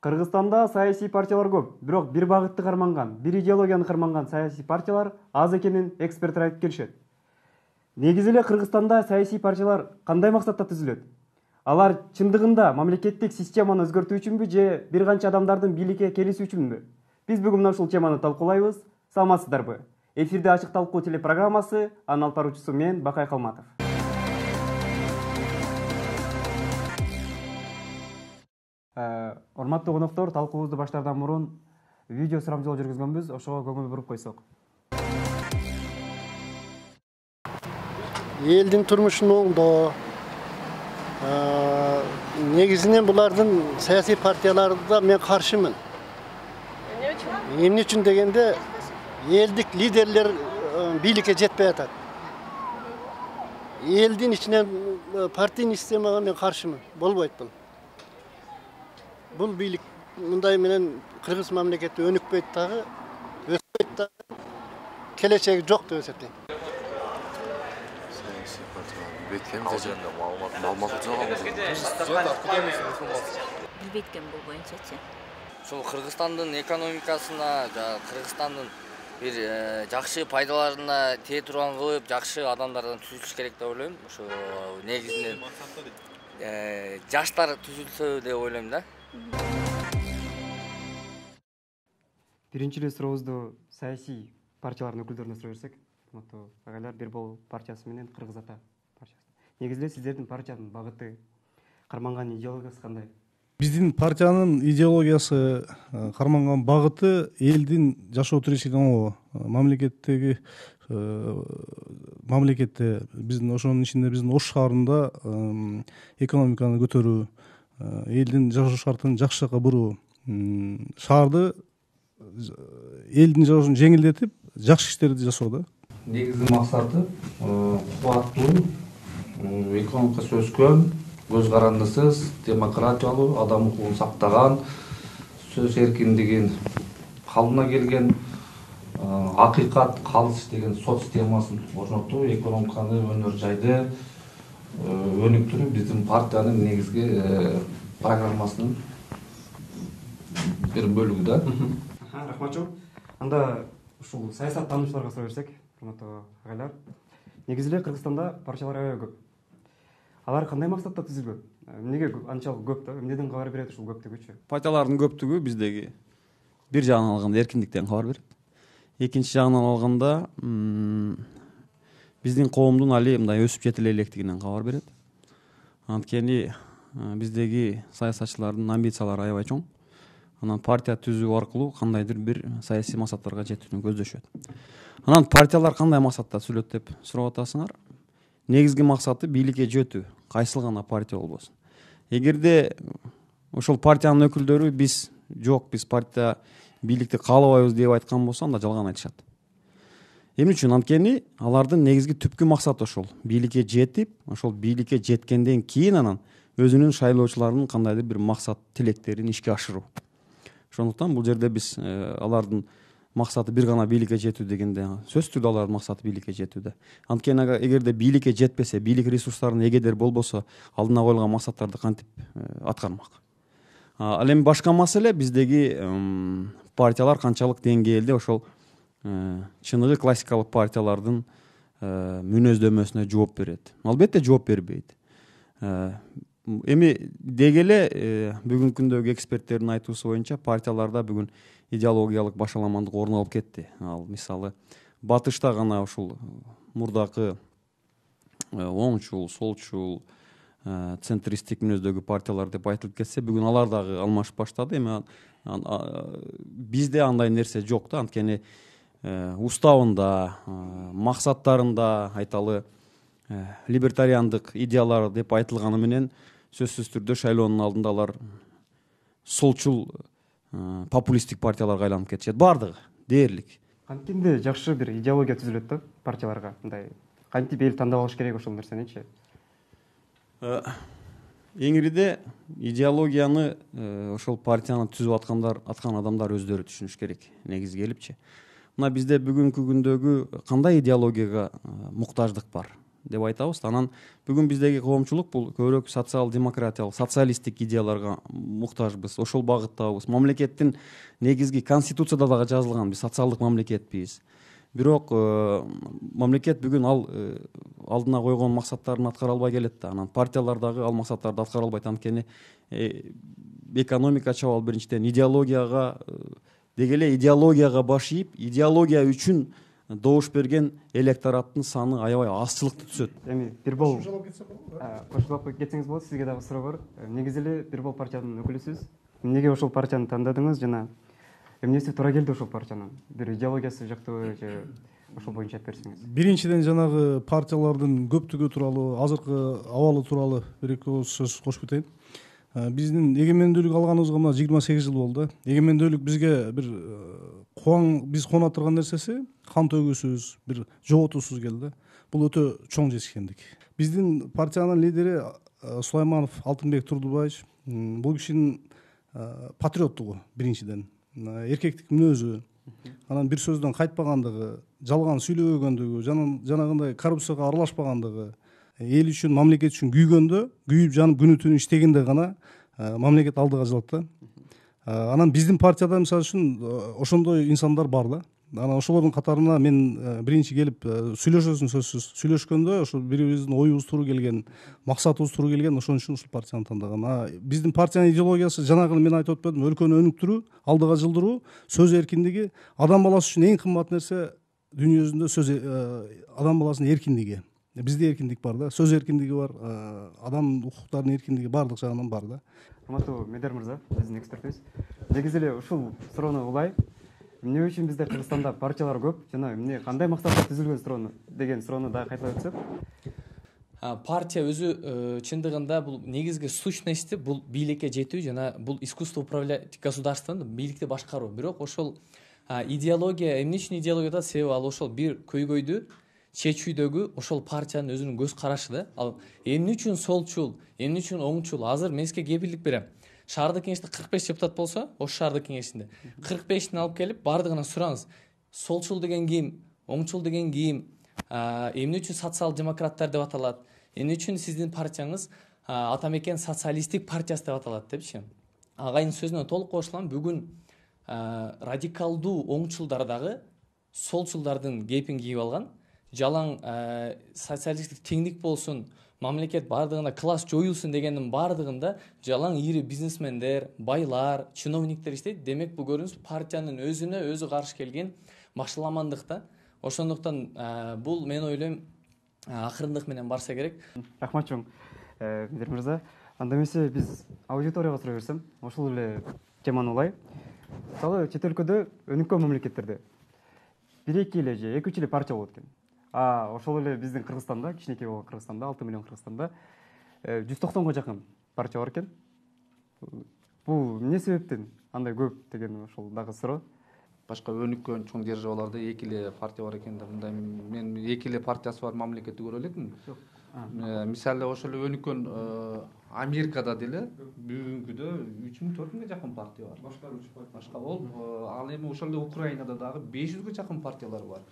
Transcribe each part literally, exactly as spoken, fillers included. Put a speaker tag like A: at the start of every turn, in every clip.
A: Кыргызстанда саясий партиялар көп, бирок бир багытты карманган, бир идеологияны карманган саясий партиялар аз экенин эксперттер айтып келишет. Негизи эле Кыргызстанда саясий партиялар кандай максатта түзүлөт? Алар чындыгында мамлекеттик системаны өзгөртүү үчүнбү же бир канча адамдардын бийликке келиши үчүнбү? Биз бүгүн мына ушул теманы талкуулайбыз. Саламатсыздарбы? Эфирде ачык талкуу телепрограммасы, анын алып баруучусу мен Бакай Калматов. Урматтуу коноктор, талкуубузду баштаардан мурун видео сурамжылоо жүргүзгөнбүз, ошого көңүл буруп койсок.
B: Элдин турмушун оңдоо, негизинен булардын саясий партияларда мен каршымын. Эмне үчүн дегенде, элдик лидерлер бийликке жетпей атат. Элдин ичинен партийный системага мен каршымын. Болбойт бул. Бул бийлик мындай менен кыргыз мамлекети өнүкпөйт дагы, өспөйт дагы, келечеги жок деп эсептейм.
C: Саясий партиялар билбейт жөнүндө маалымат жок.
D: Билбейт экен бул боюнчачы.
E: Ушул Кыргызстандын экономикасына, Кыргызстандын бир жакшы пайдаларына тээ турган кылып, жакшы адамдардан түзүлүш керек деп ойлойм. Ошо негизинен жаштар түзүлсө деп ойлойм да.
A: Биринчи эле сурообузду саясий партиялардын өкүлдөрүнө сурай берсек, урматтуу агайлар, Бир Бол партиясы менен Кыргыз Ата партиясы. Негизи эле сиздердин партиянын багыты, карманган идеологиясы кандай?
F: Биздин партиянын идеологиясы, карманган багыты элдин жашоо тиричилигин оңгоо, мамлекеттеги мамлекетте биздин ошонун ичинде биздин Ош шаарында экономиканы көтөрүү, элдин жашоо шартын жакшы жакка буруу, шаарды элдин жашоосун жеңилдетип, жакшы иштерди жасоо да.
G: Негизги максаты кубаттуу, экономикасы өскөн, көз карандысыз, демократиялуу, адам укугун сактаган, сөз эркиндигин калыбына келген, акыйкат, калыс деген сот системасын орнотуу, экономиканы өнөр жайды өнүктүрүү биздин партиянын негизги программасынын бир бөлүгү да.
A: Рахмат жок. Анда ушул саясат таануучуларга сурай берсек, урматтуу агайлар, негизи эле Кыргызстанда партиялар аябай көп. Алар кандай максатта түзүлгөн? Эмнеге анчалык көп да? Эмнеден кабар берет ушул көптүгүчү?
H: Партиялардын көптүгү биздеги бир жагынан алганда эркиндиктен кабар берет. Экинчи жагынан алганда биздин коомдун али мындай өсүп жетиле электигинен кабар берет. Анткени биздеги саясатчылардын амбициялары аябай чоң. Анан партия түзүү аркылуу кандайдыр бир саясий максаттарга жетүүнү көздөшөт. Анан партиялар кандай максатта түзүлөт деп сурап атасыңар. Негизги максаты бийликке жетүү, кайсыл гана партия болбосун. Эгерде ошол партиянын өкүлдөрү биз жок, биз партия бийликти каалабайбыз деп айткан болсо, анда жалган айтышат. Эмне үчүн? Анткени алардын негизги түпкү максаты ошол бийликке жетип, ошол бийликке жеткенден кийин анан өзүнүн шайлоочуларынын кандайдыр бир максат тилектерин ишке ашыруу. Ошондуктан бул жерде биз алардын максаты бир гана бийликке жетүү дегенде, сөзсүз түрдө алардын максаты бийликке жетүүдө. Анткени эгерде бийликке жетпесе, бийлик ресурстарынын эгедер болбосо, алдына коюлган максаттарды кантип аткармак? Ал эми башка маселе биздеги партиялар канчалык деңгээлде ошол чыныгы классикалык партиялардын мүнөздөмөсүнө жооп берет. Албетте жооп бербейт. Эми деги эле бүгүнкү күндөгү эксперттердин айтуусу боюнча партияларда бүгүн идеологиялык башаламандык орун алып кетти. Ал мисалы батышта гана ушул мурдакы оңчул, солчул, центристтик мүнөздөгү партиялар деп айтылып кетсе, бүгүн алар дагы алмашып баштады. Эми бизде андай нерсе жок да, анткени уставында, максаттарында айталы либертариандык идеялар деп айтылганы менен сөзсүз түрдө шайлоонун алдында алар солчул популисттик партияларга айланып кетишет. Бардыгы дээрлик.
A: Кантинде жакшы бир идеология түзүлөт да партияларга? Мындай кантип эл тандап алыш керек ошол нерсеничи?
H: Эңириде идеологияны ошол партияны түзүп аткандар, аткан адамдар өздөрү түшүнүш керек, негизи келипчи. Мына бизде бүгүнкү күндөгү кандай идеологияга муктаждык бар? деп айтабыз. Анан бүгүн биздеги коомчулук бул көбүрөөк социал демократиялык, социалисттик идеяларга муктажбыз. Ошол багыттабыз. Мамлекеттин негизги конституцияда дагы жазылган биз социалдык мамлекетпиз. Бирок мамлекет бүгүн ал алдына койгон максаттарын аткара албай келет да. Анан партиялар дагы ал максаттарды аткара албайт. Анткени экономика чабал биринчиден идеологияга деги эле идеологияга баш ийип, идеология үчүн добуш берген электораттын саны аябай азчылыкты түзөт.
A: Эми бир бул кошулуп кетсеңиз болот. Сизге дагы суроо бар. Негизи эле бир бул партиянын өкүлүсүз. Эмнеге ошол партияны тандадыңыз жана эмнеси туура келди ошол партиянын? Бир идеологиясы жактыбы же ошол боюнча айтып берсеңиз.
F: Биринчиден жанагы партиялардын көптүгү тууралуу, азыркы абалы тууралуу бир эки ооз сөз кошуп кетейин. Биздин эгемендүүлүк алганыбызга мына жыйырма сегиз жыл болду. Эгемендүүлүк бизге бир кубаң биз кооноп турган нерсеси кан төгүүсүз, бир жоготуусуз келди. Бул өтө чоң жетишкендик. Биздин партиянын лидери Сулайманов Алтынбек Турдубаевич бул кишинин патриоттугу биринчиден, эркектик мүнөзү, анан бир сөздөн кайтпагандыгы, жалган сүйлөбөгөндүгү, жанагындай коррупцияга аралашпагандыгы, эл үчүн, мамлекет үчүн күйгөндө, күйүп жанып күнү түнү иштегенде гана мамлекет алдыга жылат да. Анан биздин партияда мисалы үчүн ошондой инсандар бар да. Анан ошолордун катарына мен биринчи келип сүйлөшөсүн сөзсүз. Сүйлөшкөндө ошо бирибиздин оюбуз туура келген, максатыбыз туура келген, ошон үчүн ушул партияны тандаган. Биздин партиянын идеологиясы жанагы мен айтып өтпөдүм, өлкөнү өнүктүрүү, алдыга жылдыруу, сөз эркиндиги, адам баласы үчүн эң кымбат нерсе дүйнө жүзүндө сөз адам баласынын эркиндиги. Бизде эркиндик бар да, сөз эркиндиги бар, адам укуктарынын эркиндиги баардык жагынан бар да. Урматтуу
A: Медер мырза, биздин экспертибиз. Негизи эле ушул суроону улай. Эмне үчүн бизде Кыргызстанда партиялар көп жана эмне кандай максатта түзүлгөн суроону деген суроону дагы кайталап өтсөк.
I: Партия өзү чындыгында бул негизги сущности бул бийликке жетүү жана бул искусство управлять государством, бийликти башкаруу. Бирок ошол идеология, эмне үчүн идеология да себеби ал ошол бир көйгөйдү чечүүдөгү ошол партиянын өзүнүн көз карашы да. Ал эмне үчүн солчул, эмне үчүн оңчул? Азыр мен сизге кепилдик берем. Шаардык кеңеште кырк беш депутат болсо, ош шаардык кеңешинде кырк бешин алып келип баардыгына сураңыз. Солчул деген ким, оңчул деген ким, эмне үчүн социал демократтар деп аталат, эмне үчүн сиздин партияңыз Атамекен социалисттик партиясы деп аталат депчи. Агайдын сөзүнө толук кошулам. Бүгүн радикалдуу оңчулдар дагы солчулдардын кепин кийип алган. Жалаң социалисттик теңдик болсун, мамлекет баардыгында класс жоюлсун дегендин баардыгында жалаң ири бизнесмендер, байлар, чиновниктер иштейт. Демек бул көрүнүш партиянын өзүнө өзү каршы келген башаламандык да. Ошондуктан бул мен ойлойм акырындык менен барса керек.
A: Рахмат чоң. Медер мырза, анда эмесе биз аудиторияга сурай берсем, ошол эле теманы улай. Мисалы чет өлкөдө өнүккөн мамлекеттерде бир эки эле же эки үч эле партия болот экен. А ошол эле биздин Кыргызстанда, кичинекей болгон Кыргызстанда, алты миллион Кыргызстанда жүз токсонго жакын партия бар экен. Бул эмне себептен андай көп деген ошол дагы суроо.
G: Башка өнүккөн чоң державаларда эки эле партия бар экен да. Мындай мен эки эле партиясы бар мамлекетти көрө элекмин. Мисалы ошол эле өнүккөн Америкада деле бүгүнкүдө үч миң төрт миңге жакын партия бар. Башка башка болуп, ал эми ошол эле Украинада дагы беш жүзгө жакын партиялар бар.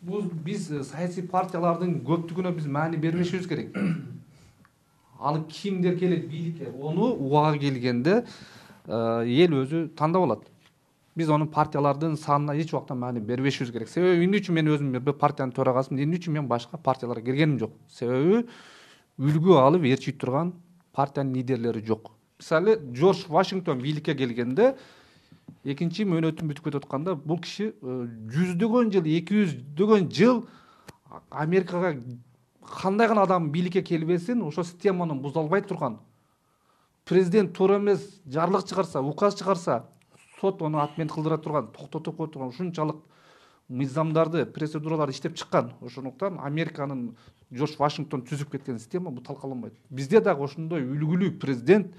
G: Бул биз саясий партиялардын көптүгүнө биз маани бербешибиз керек. Ал кимдер келет бийликке, ону убага келгенде эл өзү тандап алат. Биз онун партиялардын санына эч убакта маани бербешибиз керек. Себеби эмне үчүн мен өзүм бир партиянын төрагасымын, эмне үчүн мен башка партияларга киргеним жок. Себеби үлгү алып ээрчий турган партиянын лидерлери жок. Мисалы Джордж Вашингтон бийликке келгенде экинчи мөөнөтүн бүтүп кетип атканда бул киши жүздөгөн жыл, эки жүздөгөн жыл Америкага кандай гана адам бийликке келбесин, ошо системаны буза албай турган. Президент туура эмес жарлык чыгарса, указ чыгарса, сот ону отмен кылдыра турган, токтотуп кое турган ушунчалык мыйзамдарды, процедураларды иштеп чыккан. Ошондуктан Американын Джордж Вашингтон түзүп кеткен система бул талкаланбайт. Бизде дагы ошондой үлгүлүү президент,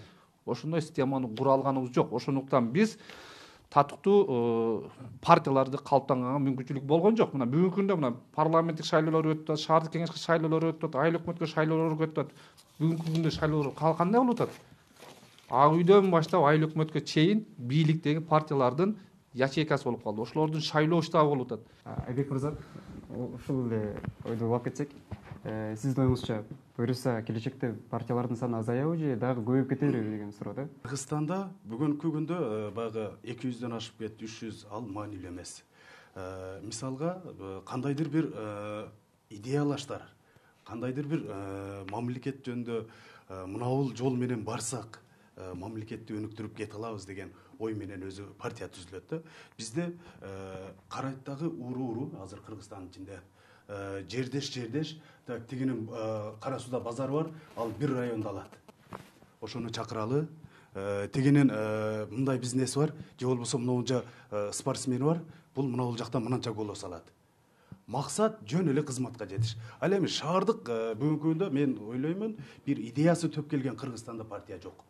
G: ошондой системаны кура алганыбыз жок. Ошондуктан биз татыктуу партияларды калыптанганга мүмкүнчүлүк болгон жок. Мына бүгүнкү күндө мына парламенттик шайлоолор өтүп атат, шаардык кеңешке шайлоолор өтүп атат, айыл өкмөткө шайлоолор өтүп атат. Бүгүнкү күндө шайлоолор кандай болуп атат? Ак үйдөн баштап айыл өкмөткө чейин бийликтеги партиялардын ячейкасы болуп калды. Ошолордун шайлоо штабы болуп атат.
A: Айбек мырза, ушул эле ойду улап кетсек, Сиздин оюңузча буюрса келечекте партиялардын саны азаябы же дагы көбөйүп кете береби деген суроо да.
J: Кыргызстанда бүгүнкү күндө баягы эки жүздөн ашып кетти, үч жүз ал маанилүү эмес. Мисалга кандайдыр бир идеялаштар, кандайдыр бир мамлекет жөнүндө мынабул жол менен барсак мамлекетти өнүктүрүп кете алабыз деген ой менен өзү партия түзүлөт да. Бизде Карайтагы уру-уру азыр Кыргызстандын ичинде жердеш жердеш так тигинин Кара Сууда базары бар, ал бир райондо алат. Ошону чакыралы. Тигинин мындай бизнеси бар, же болбосо мынабулжа спортсмени бар, бул мынабул жакта мынанча голос алат. Максат жөн эле кызматка жетиш. Ал эми шаардык бүгүнкү күндө мен ойлоймун, бир идеясы төп келген Кыргызстанда партия жок.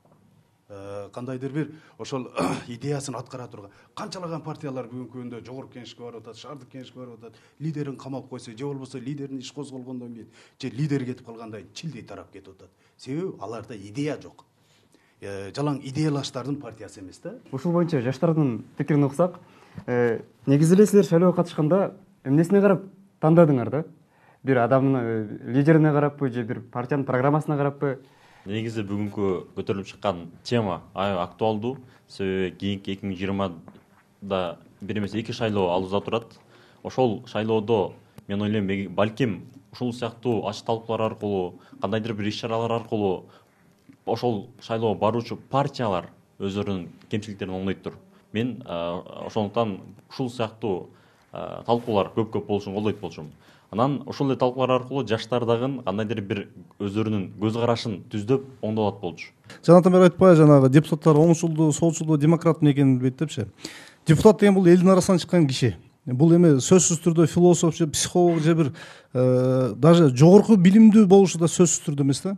J: Кандайдыр бир ошол идеясын аткара турган канчалаган партиялар бүгүнкү күндө жогорку кеңешке барып атат, шаардык кеңешке барып атат, лидерин камап койсо же болбосо лидердин иш козголгондон кийин же лидер кетип калгандан кийин чилдей тарап кетип атат. Себеби аларда идея жок. Жалаң идеялаштардын партиясы эмес да.
A: Ушул боюнча жаштардын пикирин уксак, негизи эле силер шайлоого катышканда эмнесине карап тандадыңар да? Бир адамдын лидерине караппы же бир партиянын программасына караппы?
K: Негизи бүгүнкү көтөрүлүп чыккан тема аябай актуалдуу. Себеби кийинки эки миң жыйырмада бир эмес эки шайлоо алууда турат. Ошол шайлоодо мен ойлойм, балким ушул сыяктуу ачык талкуулар аркылуу, кандайдыр бир иш-чаралар аркылуу ошол шайлоого баруучу партиялар өздөрүнүн кемчиликтерин оңдойттур. Мен ошондуктан ушул сыяктуу талкуулар көп-көп болушун колдойт болчумун. Анан ошол эле талкуулар аркылуу жаштар дагы кандайдыр бир өздөрүнүн көз карашын түздөп оңдолот болчу.
F: Жанатан бери айтпай жанагы депутаттар оңчулдуу, солчулдуу, демократтын экенин билбейт депчи. Депутат деген бул элдин арасынан чыккан киши. Бул эми сөзсүз түрдө философ же психолог же бир даже жогорку билимдүү болушу да сөзсүз түрдө эмес да.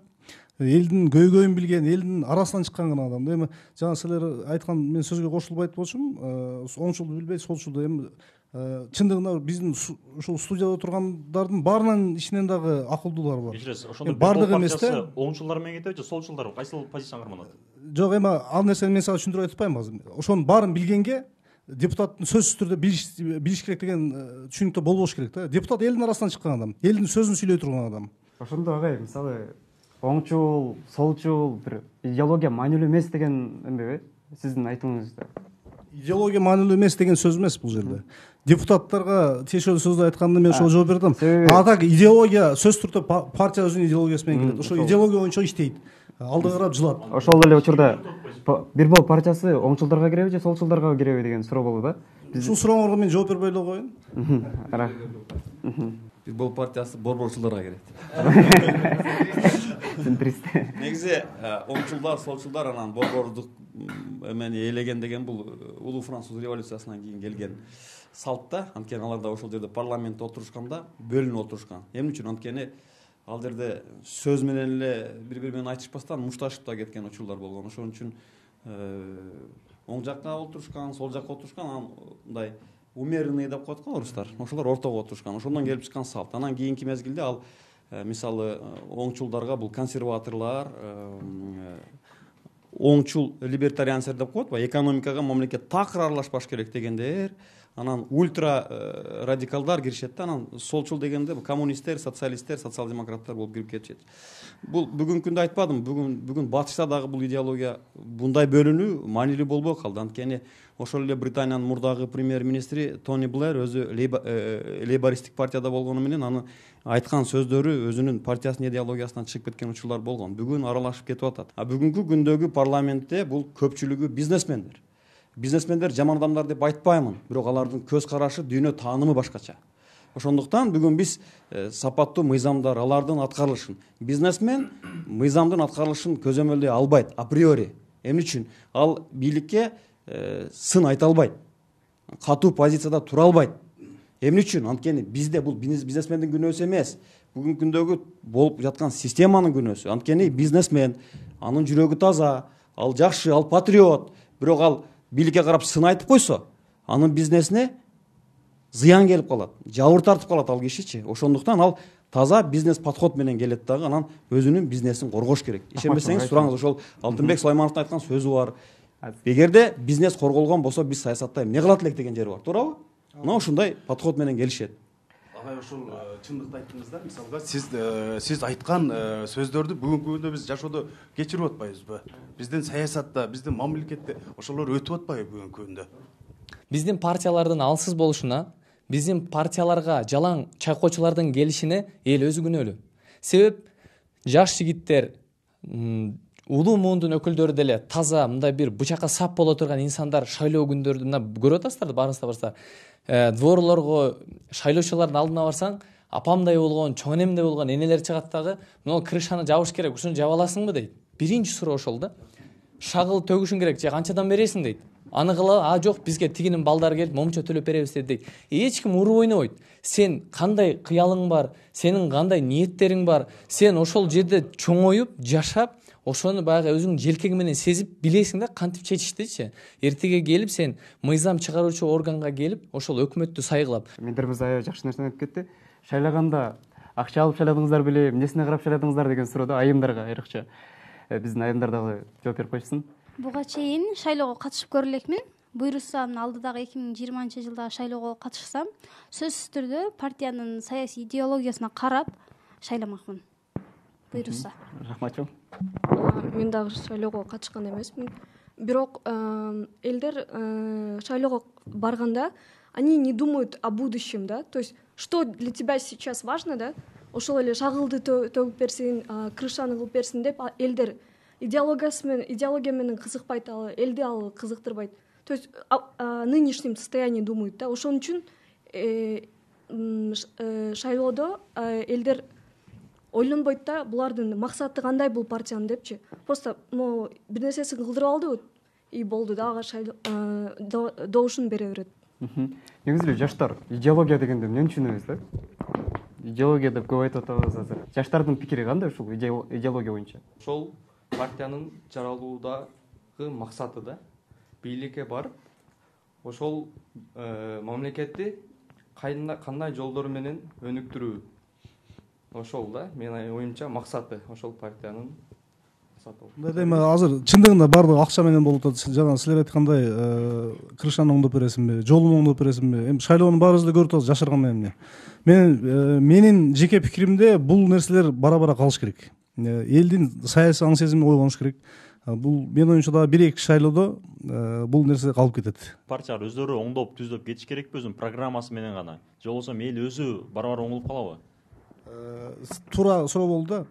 F: Элдин көйгөйүн билген, элдин арасынан чыккан гана адам. Эми жана силер айткан мен сөзгө кошулбайт болчумун. Оңчулду билбейт, солчулду эми чындыгында биздин ушул студияда тургандардын баарынын ичинен дагы акылдуулар бар.
K: Кечиресиз, ошондо
F: бардыгы эмес да.
K: Оңчулдар менен кетеби же солчулдар? Кайсыл позицияны карманат?
F: Жок, эми ал нерсени мен сага түшүндүрүп айтып атпайм азыр. Ошонун баарын билгенге депутаттын сөзсүз түрдө билиш билиш керек деген түшүнүктө болбош керек да. Депутат элдин арасынан чыккан адам, элдин сөзүн сүйлөй турган адам.
A: Ошондо агай, мисалы оңчул, солчул, бир идеология маанилүү эмес деген эмнеби? Сиздин айтууңузда.
F: Идеология маанилүү эмес деген сөз эмес бул жерде. Депутаттарга тиешелүү сөздү айтканда мен ошого жооп бердим. А так идеология сөз түрдө партия өзүнүн идеологиясы менен келет. Ошо идеология боюнча иштейт. Алды карап жылат.
A: Ошол эле учурда бир бул партиясы оңчулдарга киреби же солчулдарга киреби деген суроо болду да.
F: Ушул сурооңорго мен жооп бербей эле коеюн.
H: Бир бул партиясы борборчулдарга кирет. Негизи оңчулдар, солчулдар анан борбордук эмени ээлеген деген бул улуу француз революциясынан кийин келген салт да. Анткени алар да ошол жерде парламентте отурушканда бөлүнүп отурушкан. Эмне үчүн? Анткени ал жерде сөз менен эле бири-бири менен айтышпастан мушташып да кеткен учурлар болгон. Ошон үчүн оң жакка отурушкан, сол жакка отурушкан, анан мындай умеренный деп коет го орустар. Ошолор ортого отурушкан. Ошондон келип чыккан салт. Анан кийинки мезгилде ал мисалы оңчулдарга бул консерваторлор, оңчул либертарианцер деп коет го, экономикага мамлекет такыр аралашпаш керек дегендер. Анан ультра радикалдар киришет да, анан солчул дегенде коммунисттер, социалисттер, социал-демократтар болуп кирип кетишет. Бул бүгүнкү күндө айтпадым, бүгүн бүгүн батышта дагы бул идеология мындай бөлүнүү маанилүү болбой калды. Анткени ошол эле Британиянын мурдагы премьер-министри Тони Блэр өзү лейбористтик партияда болгону менен аны айткан сөздөрү өзүнүн партиясынын идеологиясынан чыгып кеткен учурлар болгон. Бүгүн аралашып кетип атат. А бүгүнкү күндөгү парламентте бул көпчүлүгү бизнесмендер. Бизнесмендер жаман адамдар деп айтпаймын, бирок алардын көз карашы, дүйнө таанымы башкача. Ошондуктан бүгүн биз сапаттуу мыйзамдар, алардын аткарылышын, бизнесмен мыйзамдын аткарылышын көзөмөлдөй албайт априори. Эмне үчүн? Ал бийликке сын айта албайт, катуу позицияда тура албайт. Эмне үчүн? Анткени бизде бул бизнесмендин күнөөсү эмес, бүгүнкү күндөгү болуп жаткан системанын күнөөсү. Анткени бизнесмен, анын жүрөгү таза, ал жакшы, ал патриот, бирок ал бийликке карап сын айтып койсо, анын бизнесине зыян келип калат, жабыр тартып калат ал кишичи. Ошондуктан ал таза бизнес подход менен келет дагы, анан өзүнүн бизнесин коргош керек. Ишенбесеңиз сураңыз, ошол Алтынбек Сулаймановдун айткан сөзү бар. Эгерде бизнес корголгон болсо, биз саясатта эмне кылат элек деген жери бар, туурабы? Мына ушундай подход менен келишет.
J: агай ошол чындыкты айттыңыз да. Мисалга сиз сиз айткан сөздөрдү бүгүнкү күндө биз жашоодо кечирип атпайбызбы? Биздин саясатта, биздин мамлекетте ошолор өтүп атпайбы бүгүнкү күндө?
I: Биздин партиялардын алсыз болушуна, биздин партияларга жалаң чайкоочулардын келишине эл өзү күнөөлүү. Себеп жаш жигиттер, улуу муундун өкүлдөрү деле таза мындай бир бычакка сап боло турган инсандар шайлоо күндөрү мына көрүп атасыздар да, барыңыздар барса дворлорго шайлоочулардын алдына барсаң, апамдай болгон, чоң энемдей болгон энелер чыгат дагы, мына крышаны жабыш керек, ушуну жаба аласыңбы дейт. Биринчи суроо ошол да. Шагыл төгүшүң керек, же канчадан бересиң дейт. Аны кыла, а жок, бизге тигинин балдары келип момчо төлөп беребиз дейт. Эч ким уруп ойнобойт. Сен кандай кыялың бар, сенин кандай ниеттериң бар, сен ошол жерде чоңоюп, жашап, ошону баягы өзүң желкең менен сезип билесиң да кантип чечиштичи. Эртеге келип сен мыйзам чыгаруучу органга келип, ошол өкмөттү сайгылап.
A: Мендер мырза аябай жакшы нерсени айтып кетти. Шайлаганда акча алып шайладыңыздар беле, эмнесине карап шайладыңыздар деген суроо да айымдарга айрыкча. Биздин айымдар дагы жооп берип койчусун.
L: Буга чейин шайлоого катышып көрө элекмин. Буйрусам алдыдагы эки миң жыйырманчы жылдагы шайлоого катышсам, сөзсүз түрдө партиянын саясий идеологиясына карап шайламакмын. Буйруса.
A: Рахмат чоң.
M: Мен дагы шайлоого катышкан эмесмин. Бирок элдер шайлоого барганда они не думают о будущем, да? То есть, что для тебя сейчас важно, да? Ошол эле шагылды төгүп берсин, крышаны кылып берсин деп элдер идеологиясы менен идеология менен кызыкпайт, ал элди ал кызыктырбайт. То есть о нынешнем состоянии думают, да? Ошон үчүн шайлоодо элдер ойлонбойт да, булардын максаты кандай бул партиянын депчи. Просто могу бир нерсесин кылдырып алдыбы и болду да, ага шайлоо добушун бере берет.
A: Негизи эле жаштар идеология дегенди эмнени түшүнөбүз да? Идеология деп көп айтып атабыз азыр. Жаштардын пикири кандай ушул идеология боюнча?
N: Ошол партиянын жаралуудагы максаты да, бийликке барып, ошол мамлекетти кандай жолдор менен өнүктүрүү. Ошол да, менин оюмча максаты, ошол партиянын максаты.
F: Мындай эми азыр чындыгында баардыгы акча менен болуп атат. Жана силер айткандай крышаны оңдоп бересиңби, жолун оңдоп бересиңби? Эми шайлоонун баарыбыз да көрүп атабыз жашырган эмне. Менин менин жеке пикиримде бул нерселер бара-бара калыш керек. Элдин саясий аң сезими ойгонуш керек. Бул менин оюмча дагы бир эки шайлоодо бул нерсе калып кетет.
K: Партиялар өздөрү оңдоп, түздөп кетиш керекпи өзүнүн программасы менен гана? Же болбосо эл өзү бара-бара оңолуп калабы?
F: Туура суроо болду да.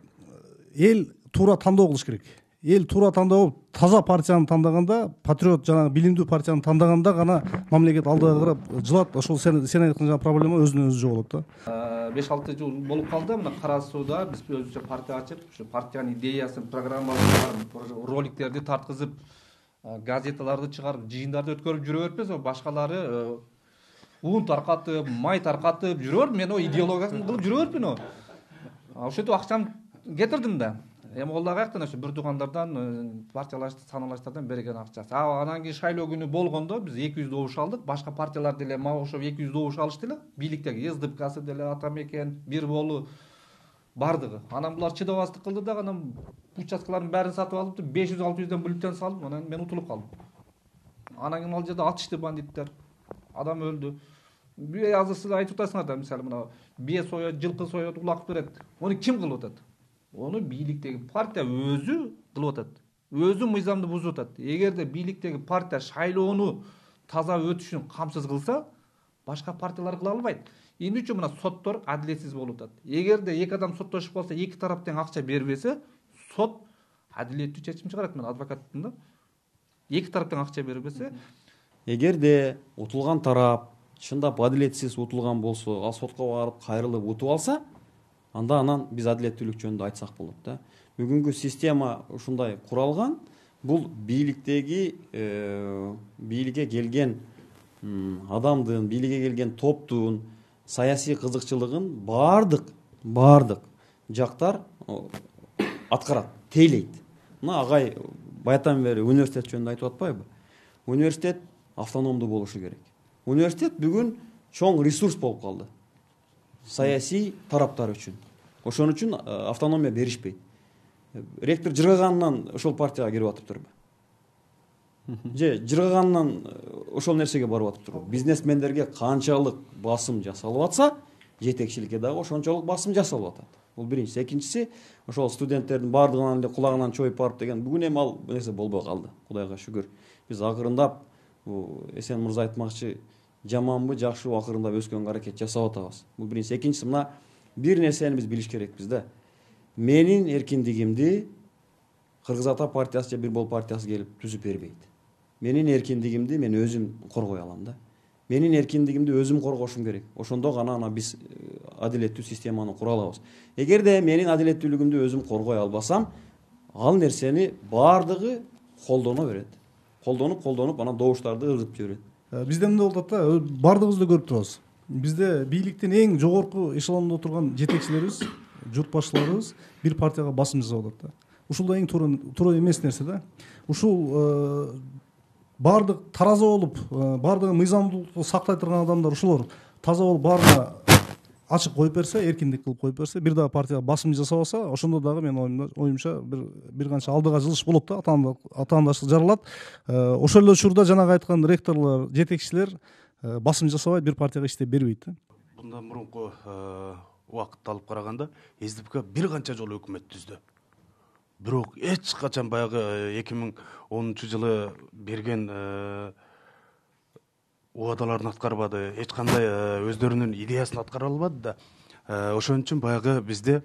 F: Эл туура тандоо кылыш керек. Эл туура тандоо болуп, таза партияны тандаганда, патриот жана билимдүү партияны тандаганда гана мамлекет алдыга карап жылат. Ошол сен сен айткан жана проблема өзүнөн өзү жоголот да.
G: беш алты жыл болуп калды мына Кара Сууда биз өзүбүзчө партия ачып, ушу партиянын идеясын, программасын, роликтерди тарткызып, газеталарды чыгарып, жыйындарды өткөрүп жүрө бербейбиз, башкалары ун таркатып, май таркатып жүрөр, мен о идеологиясын кылып жүрө бербеймин. Ошентип акчамды кетирдим да. Эми ол дагы каяктан ошо бир туугандардан, партиялашты, саналаштардан берген акчасы. А анан кийин шайлоо күнү болгондо биз эки жүз добуш алдык. Башка партиялар деле мага окшоп эки жүз добуш алышты эле. Бийликтеги СДПКсы деле, Атамекен, Бир болу бардыгы. Анан булар чыдабастык кылды да, анан участкалардын баарын сатып алып, беш жүз алты жүздөн бүлүктөн салып, анан мен утулуп калдым. Анан кийин ал жерде атышты бандиттер. Адам өлдү. Азыр сиз айтып атасыңар да, мисалы мына бие соёт, жылкы соёт, улак берет. Ону ким кылып атат? Ону бийликтеги партия өзү кылып атат. Өзү мыйзамды бузуп атат. Эгерде бийликтеги партия шайлоону таза өтүшүн камсыз кылса, башка партиялар кыла албайт. Эмне үчүн мына соттор адилетсиз болуп атат? Эгерде эки адам соттошуп калса, эки тарап тең акча бербесе, сот адилеттүү чечим чыгарат. Мен адвокатмын да. Эки тарап тең акча бербесе,
H: эгерде утулган тарап чындап адилетсиз утулган болсо, ал сотко барып кайрылып утуп алса, анда анан биз адилеттүүлүк жөнүндө айтсак болот да. Бүгүнкү система ушундай куралган. Бул бийликтеги бийликке келген адамдын, бийликке келген топтун саясий кызыкчылыгын баардык баардык жактар аткарат, тейлейт. Мына агай баятан бери университет жөнүндө айтып атпайбы? Университет автономдуу болушу керек. Университет бүгүн чоң ресурс болуп калды. Саясий тараптар үчүн. Ошон үчүн автономия беришпейт. Ректор жыргаганынан ошол партияга кирип атыптырбы? Же жыргаганынан ошол нерсеге барып атыптырбы? Бизнесмендерге канчалык басым жасалып атса, жетекчиликке дагы ошончолук басым жасалып атат. Бул биринчиси. Экинчиси, ошол студенттердин баардыгынан эле кулагынан чоюп барып деген бүгүн эми ал нерсе болбой калды. Кудайга шүгүр. Биз акырындап, бул Эсен мырза айтмакчы, жаманбы, жакшыбы акырындап өскөнгө аракет жасап атабыз. Бул биринчиси. Экинчиси, мына бир нерсени биз билиш керекпиз да. Менин эркиндигимди Кыргыз Ата партиясы же Бир Бол партиясы келип түзүп бербейт. Менин эркиндигимди мен өзүм коргой алам да. Менин эркиндигимди өзүм коргошум керек. Ошондо гана ана биз адилеттүү системаны кура алабыз. Эгерде менин адилеттүүлүгүмдү өзүм коргой албасам, ал нерсени баардыгы колдоно берет. Колдонуп, колдонуп, анан добуштарды ыргытып жиберет.
F: Бизде мындай болуп атат да, баардыгыбызды көрүп турабыз. Бизде бийликтин эң жогорку эшелондо турган жетекчилерибиз, журт башчыларыбыз бир партияга басым жасап атат да. Ушул да эң туура эмес нерсе да. Ушул баардык тараза болуп, баардыгы мыйзамдуулукту сактай турган адамдар ушулар таза болуп баарына ачык коюп берсе, эркиндик кылып коюп берсе, бир дагы партияга басым жасабаса, ошондо дагы менин оюмча бир бир канча алдыга жылыш болот да, атаандаштык жаралат. Ошол эле учурда жанагы айткан ректорлор, жетекчилер басым жасабайт, бир партияга иштеп бербейт да.
J: Мындан мурунку убакытты алып караганда, СДПК бир канча жолу өкмөт түздү. Бирок эч качан баягы эки миң онунчу жылы берген убадаларын аткарбады, эч кандай өздөрүнүн идеясын аткара албады да. Ошон үчүн баягы бизде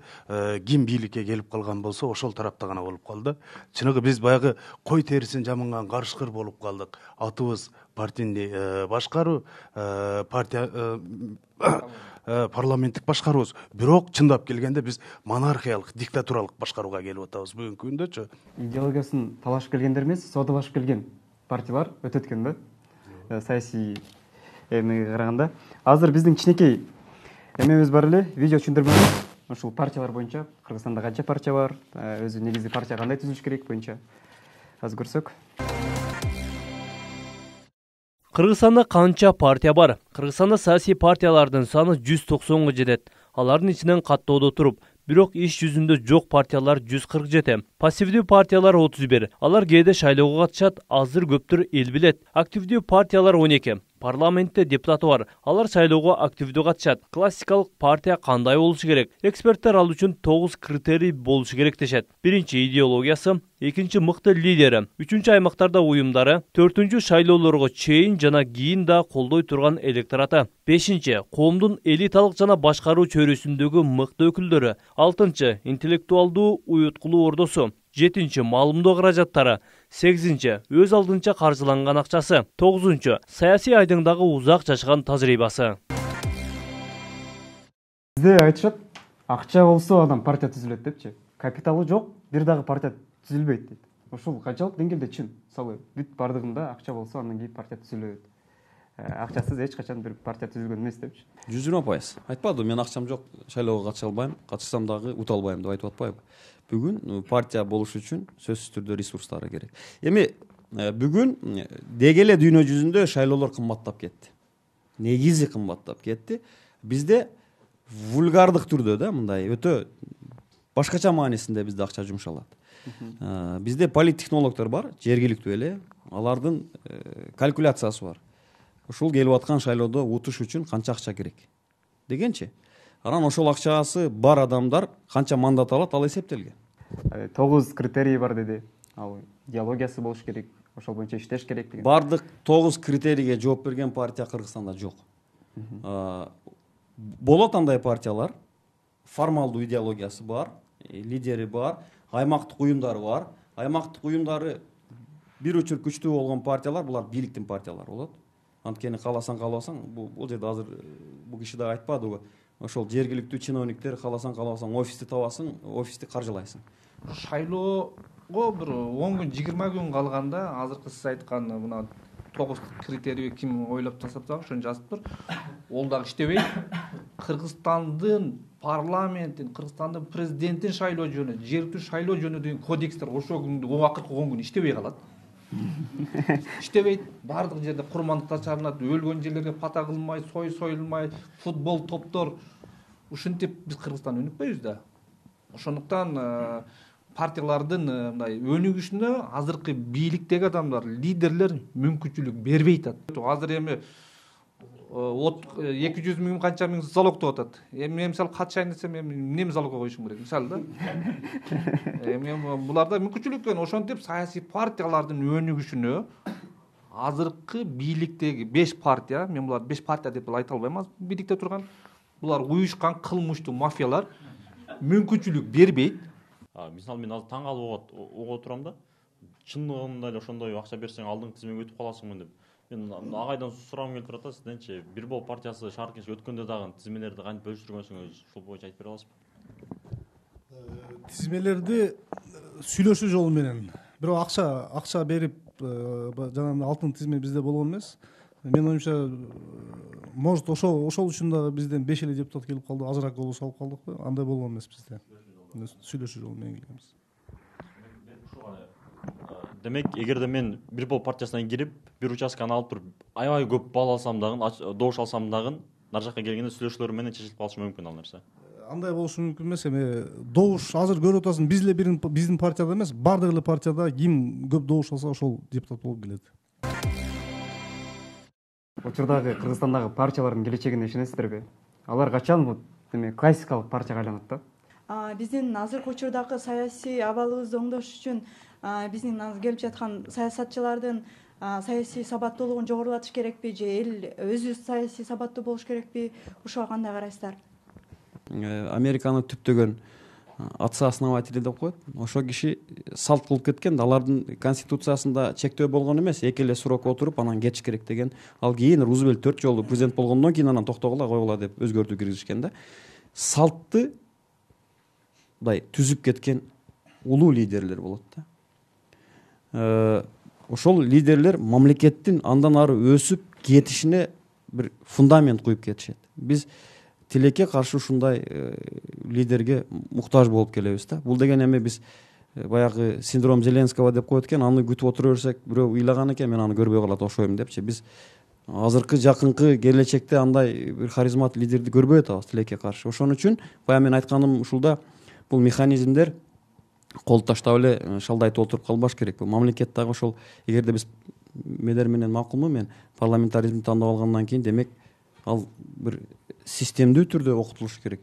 J: ким бийликке келип калган болсо, ошол тарапта гана болуп калды. Чыныгы биз баягы кой терисин жамынган карышкыр болуп калдык. Атыбыз партийный башкаруу, партия парламенттик башкаруубуз. Бирок чындап келгенде биз монархиялык, диктатуралык башкарууга келип атабыз бүгүнкү күндөчү.
A: Идеологиясын талашып келгендер эмес, соодалашып келген партиялар өтөт экен да. Саясий эмеге караганда. Азыр биздин кичинекей эмебиз бар эле, видео түшүндүрмөбүз. Ушул партиялар боюнча, Кыргызстанда канча партия бар, өзү негизи партия кандай түзүлүш керек боюнча азыр көрсөк.
O: Кыргызстанда канча партия бар? Кыргызстанда саясий партиялардын саны жүз токсонго жетет. Алардын ичинен каттоодо туруп, бирок иш жүзүндө жок партиялар жүз кырк жети. Пассивдүү партиялар отуз бир. Алар кээде шайлоого катышат, азыр көптөр эл билет. Активдүү партиялар он эки. Парламентте депутаты бар. Алар шайлоого активдүү катышат. Классикалык партия кандай болушу керек? Эксперттер ал үчүн тогуз критерий болушу керек дешет. Биринчи идеологиясы, экинчи мыкты лидери, үчүнчү аймактарда уюмдары, төртүнчү шайлоолорго чейин жана кийин да колдой турган электораты, бешинчи коомдун элиталык жана башкаруу чөйрөсүндөгү мыкты өкүлдөрү, алтынчы интеллектуалдуу уюткулуу ордосу, жетинчи маалымдоо каражаттары, сегизинчи өз алдынча каржыланган акчасы, тогузунчу саясий айдыңдагы узак жашаган тажрыйбасы.
A: Бизде айтышат, акча болсо адам партия түзүлөт депчи. Капиталы жок, бир дагы партия түзүлбөйт дейт. Ушул канчалык деңгээлде чын? Мисалы, бүт бардыгында акча болсо, андан кийин партия түзүлөт. Акчасыз эч качан бир партия түзүлгөн эмес депчи.
H: жүз жыйырма пайыз. Айтпадым, мен акчам жок, шайлоого катыша албайм, катышсам дагы ута албайм деп айтып атпайбы? Бүгүн партия болуш үчүн сөзсүз түрдө ресурстары керек. Эми бүгүн деги эле дүйнө жүзүндө шайлоолор кымбаттап кетти. Негизи кымбаттап кетти. Бизде вульгардык түрдө да, мындай өтө башкача маанисинде бизде акча жумшалат. Бизде политтехнологдор бар, жергиликтүү эле, алардын калькуляциясы бар. Ушул келип аткан шайлоодо утуш үчүн канча акча керек дегенчи. Анан ошол акчасы бар адамдар канча мандат алат, ал эсептелген.
A: тогуз критерий бар деди. Ал идеологиясы болуш керек, ошол боюнча иштеш керек деген.
H: Бардык тогуз критерийге жооп берген партия Кыргызстанда жок. Болот андай партиялар, формалдуу идеологиясы бар, лидери бар, аймактык уюмдары бар. Аймактык уюмдары бир учур күчтүү болгон партиялар, булар бийликтин партиялары болот. Анткени кааласаң каалабасаң, бул жерде азыр бул киши да айтпадыбы, ошол жергиликтүү чиновниктер кааласаң каалабасаң офисти табасың, офисти каржылайсың.
G: Шайлоого бир он күн, жыйырма күн калганда азыркы сиз айткан мына тогуз критерий ким ойлоп жасапса, ошону жазыптыр. Ол дагы иштебейт. Кыргызстандын парламентин, Кыргызстандын президентин шайлоо жөнү, жергиликтүү шайлоо жөнү деген кодекстер ошол күндө акыркы он күн иштебей калат. Иштебейт, баардык жерде курмандыктар чарынат, өлгөн жерлерге пата кылмай, сой союлмай, футбол топтор. Ушинтип биз Кыргызстан өнүкпөйбүз да. Ошондуктан партиялардын мындай өнүгүшүнө азыркы бийликтеги адамдар, лидерлер мүмкүнчүлүк бербей атат. Азыр эми от эки жүз миң канча миң залог деп атат. Эми мен мисалы катышайын десем эми эмне залогко коюшум керек мисалы да. Эми буларда мүмкүнчүлүк көн ошентип саясий партиялардын өнүгүшүнө азыркы бийликтеги беш партия, мен буларды беш партия деп айта албайм, азыр бийликте турган булар уюшкан кылмыштуу мафиялар мүмкүнчүлүк бербейт.
K: Мисалы мен азыр таң калып угуп отурам да. Чындыгында эле ошондой акча берсең алдыңкы тизмеге өтүп каласыңбы деп. Мен агайдан сурагым келип турат да, сизденчи бир бол партиясы шаар кеңешке өткөндө дагы тизмелерди кантип бөлүштүргөнсүңүз, ушул боюнча айтып бере аласызбы?
F: Тизмелерди сүйлөшүү жолу менен, бирок акча акча берип жана алтын тизме бизде болгон эмес. Менин оюмча, может ошол ошол үчүн дагы бизден беш эле депутат келип калды, азыраак голос алып калдыкпы? Андай болгон эмес бизде. Сүйлөшүү жолу менен келгенбиз.
K: Демек, эгерде мен бир бол партиясынан кирип, бир участканы алып туруп, аябай көп балл алсам дагы, добуш алсам дагы, нар жакка келгенде сүйлөшүүлөр менен чечилип калышы мүмкүн ал нерсе.
F: Андай болушу мүмкүн эмес. Эми добуш азыр көрүп атасың, биз эле биздин партияда эмес, бардык эле партияда ким көп добуш алса ошол депутат болуп келет.
A: Учурдагы Кыргызстандагы партиялардын келечегине ишенесиздерби? Алар качан бул деме классикалык партияга айланат да?
P: Биздин азыркы учурдагы саясий абалыбызды оңдош үчүн биздин келип жаткан саясатчылардын саясий сабаттуулугун жогорулатыш керекпи же эл өзү саясий сабаттуу болуш керекпи? Ошого кандай карайсыздар?
H: Американы түптөгөн отцы-основатели деп коет. Ошол киши салт кылып кеткен, алардын конституциясында чектөө болгон эмес, эки эле срок отуруп анан кетиш керек деген. Ал кийин Рузвельт төрт жолу президент болгондон кийин анан токтогула койгула деп өзгөртүү киргизишкен да. Салтты мындай түзүп кеткен улуу лидерлер болот да. Ошол лидерлер мамлекеттин андан ары өсүп кетишине бир фундамент куюп кетишет. Биз тилекке каршы ушундай лидерге муктаж болуп келебиз да. Бул деген эми биз баягы синдром Зеленского деп коет экен, аны күтүп отура берсек, бирөө ыйлаган экен, мен аны көрбөй калат окшойм депчи. Биз азыркы жакынкы келечекте андай бир харизмат лидерди көрбөй атабыз тилекке каршы. Ошон үчүн баягы мен айтканым ушулда, бул механизмдер кол таштап эле шалдайтып отуруп калбаш керек. Бул мамлекет дагы ошол, эгерде биз медер менен макулму, мен парламентаризмди тандап алгандан кийин, демек ал бир системдүү түрдө окутулуш керек.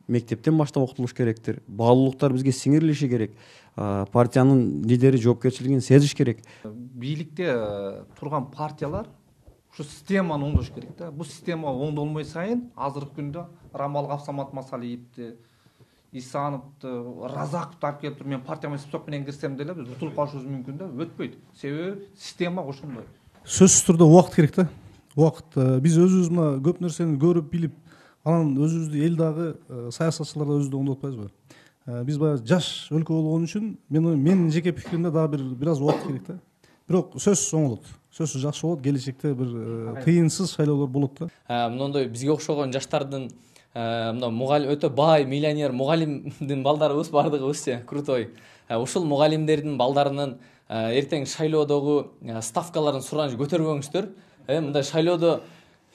H: Мектептен баштап окутулуш керектир. Баалуулуктар бизге сиңирилиши керек. Партиянын лидери жоопкерчилигин сезиш керек.
G: Бийликте турган партиялар ушу системаны оңдош керек да. Бул система оңдолмой сайын азыркы күндө Рамал Гапсамат Масалиевди, Исановду, Разаковду алып келип туруп мен партияга список менен кирсем деле биз утулуп калышыбыз мүмкүн да, өтпөйт. Себеби система ошондой.
F: Сөзсүз түрдө убакыт керек да. Убакыт. Биз өзүбүз мына көп нерсени көрүп билип, анан өзүбүздү эл дагы саясатчылар да өзүбүздү оңдоп атпайбызбы? Биз баягы жаш өлкө болгон үчүн мен менин жеке пикиримде дагы бир бир аз убакыт керек да. Бирок сөзсүз оңолот. Сөзсүз жакшы болот, келечекте бир кыйынсыз шайлоолор болот да.
I: Мындай бизге окшогон жаштардын мына мугалим өтө бай, миллионер мугалимдин балдарыбыз бардыгыбызчы, крутой. Ушул мугалимдердин балдарынын эртең шайлоодогу ставкаларын сураныш көтөрбөңүздөр. Мындай шайлоодо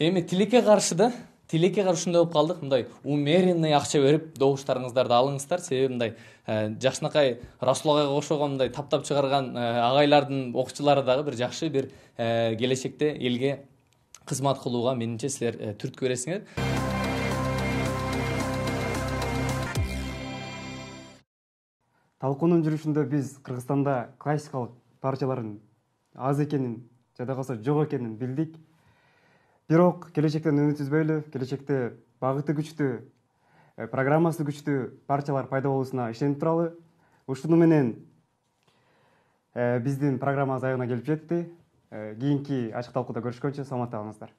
I: эми тилекке каршы да, тилекке каршы ушундай болуп калдык. Мындай умеренный акча берип добуштарыңыздарды алыңыздар. Себеби мындай жакшынакай Расул агайга окшогон мындай таптап чыгарган агайлардын окуучулары дагы бир жакшы бир келечекте элге кызмат кылууга менимче силер түрткү бересиңер.
A: Талкуунун жүрүшүндө биз Кыргызстанда классикалык партиялардын аз экенин, жада калса жок экенин билдик. Бирок келечектен үмүт үзбөйлү, келечекте багыты күчтүү, программасы күчтүү партиялар пайда болуусуна ишенип туралы. Ушуну менен биздин программабыз аягына келип жетти. Кийинки ачык талкууда көрүшкөнчө саламатта калыңыздар.